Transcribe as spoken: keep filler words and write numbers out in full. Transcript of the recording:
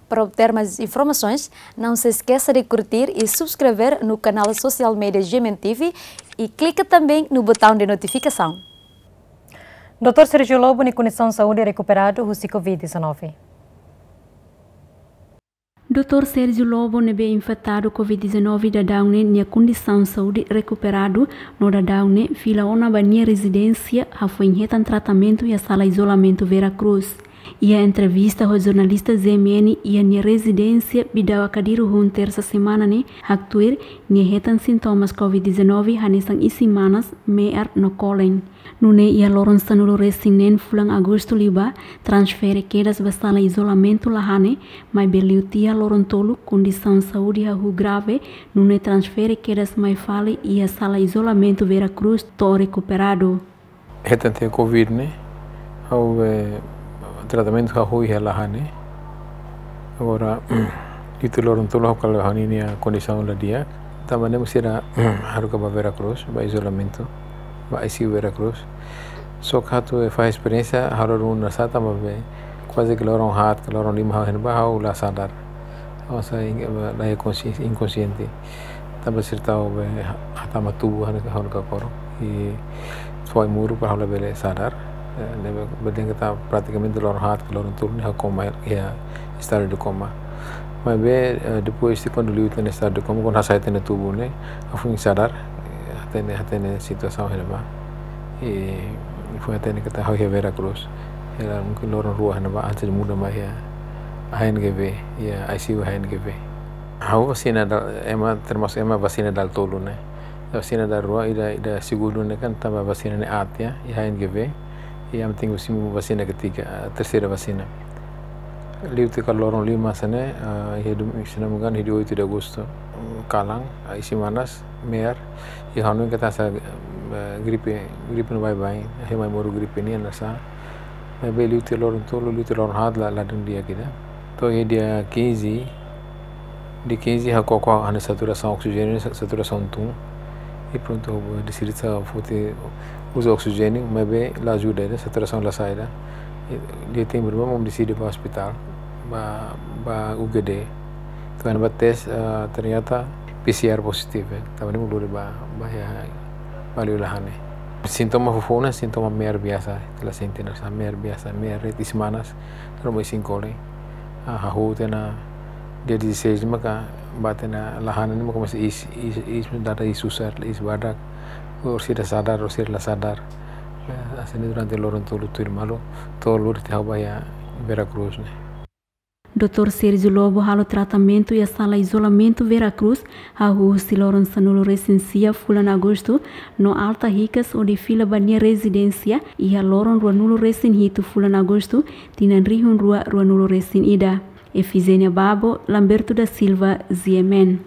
Para obter mais informações, não se esqueça de curtir e subscrever no canal social media G M N T V e clica também no botão de notificação. Doutór Sérgio Lobo nia kondisaun saúde rekuperadu husi covid dezanove. Doutór Sérgio Lobo ne'ebé infetadu covid dezanove daudaun ne'e nia kondisaun saúde rekuperadu no daudaun ne'e fila ona ba nia rezidénsia hafoin hetan tratamentu iha sala izolamentu Vera Cruz. Iha entrevista ho jornalista G M N iha nia rezidénsia Bidau Akadiru hun tersa semana ne'e, haktuir nia hetan sintomas covid dezanove hanesan isin-manas, me'ar no kolen. Nune'e iha loron sanulu resin neen fulan Agostu liubá, transfere kedas ba sala izolamentu Lahane, maibé liu tiha loron tolu kondisaun saúde hahú grave, nune'e transfere kedas mai fali iha sala izolamentu Vera Cruz to'o rekuperadu. Hetan tiha covid ne'e, ha'u, eh, tratamentu hahú iha Lahane. Agora, liu tiha loron tolu ha'u kala ha'u-nia kondisaun la di'ak. Tanba ne'e mak sira haruka ba Vera Cruz, ba izolamentu, ba I C U Vera Cruz. Só ke atu, eh, fahe esperiénsia, ha'u la rona sá tanba be, kuaze ke loron haat, ke loron lima ha'u hein ba ha'u la sadar. Ha'u sai in-, la iha konsi-, inkonsiente. Tanba sira tau be ha-, hatama tubu hanesan ha'u-nia kakoro. I fó ai-moruk para ha'u labele sadar. Eh, ne'ebé, bele dehan katak pratikamente loron haat, loron tolu ne'e ha'u koma, iha estadu de koma. Maibé, eh, depois de kuandu liu tiha ona estadu de koma, kuandu hasai tiha ona tubu ne'e, ha'u foin sadar, eh, hatene, hatene situasaun iha ne'ebá. I foin hatene katak ha'u iha Vera Cruz. Iha mungkin loron rua iha ne'ebá, antes de muda mai iha A N G V, iha I C U A N G V. Ha'u vasina dala, ema, termasuk ema vasina dala tolu ne'e. Vasina dala rua, ida, ida segundu ne'e kan tanba vasina ne'e aat, ya, iha A N G V. I ami tenke simu vasina ketiga, eh, terseira vasina. Liu tiha kala loron lima hanesan ne'e, eh, iha dum-, se não me engano, iha dia oito de agosto, eh, kalan, eh, isin-manas, me'ar, i ha'u hanoin katak hanesan, eh, gripe, gripe ne'e baibain, iha mai moru gripe nian hanesan. Maibé liu tiha loron tolu, liu tiha loron haat la, la dún di'ak ida. To'o iha dia quinze, dia quinze ha'u koko ha'u-nia saturasaun oksijéniu, sa-, saturasaun tun. I prontu, deside atu foti uza oksijéniu, maibé la ajuda ida, saturasaun la sai ida. I dia tempu ne'ebá mak deside ba ospitál, ba, ba U G D. To'o iha ne'ebá tes, eh, ternyata P C R positivu, eh. Tanba ne'e mak lori ba, ba iha, ba liu Lahane. Sintoma foufoun ne'e sintoma me'ar biasa, ita la sente hanesan me'ar biasa, me'ar rete isin-manas, ruma isin kolen. Ah, hahú tiha ona dia dezasseis maka bá tiha ona Lahane ne'e maka komesa iis, iis, iis, dada iis susar, iis badak. Orsida sadar, orsida la sadar. Eh, hanesan ne'e durante loron tolu tuirmai, to'o lori tiha ha'u ba iha Vera Cruz ne'e. Doutór Sérgio Lobo halo tratamentu iha sala izolamentu Vera Cruz, hahú husi loron sanulu resin sia fulan Agostu, no alta hikas hodi fila ba nia rezidénsia, iha loron ruanulu resin hitu fulan Agostu, tinan rihun rua ruanulu resin ida. Efigénia Babo, Lamberto da Silva, G M N.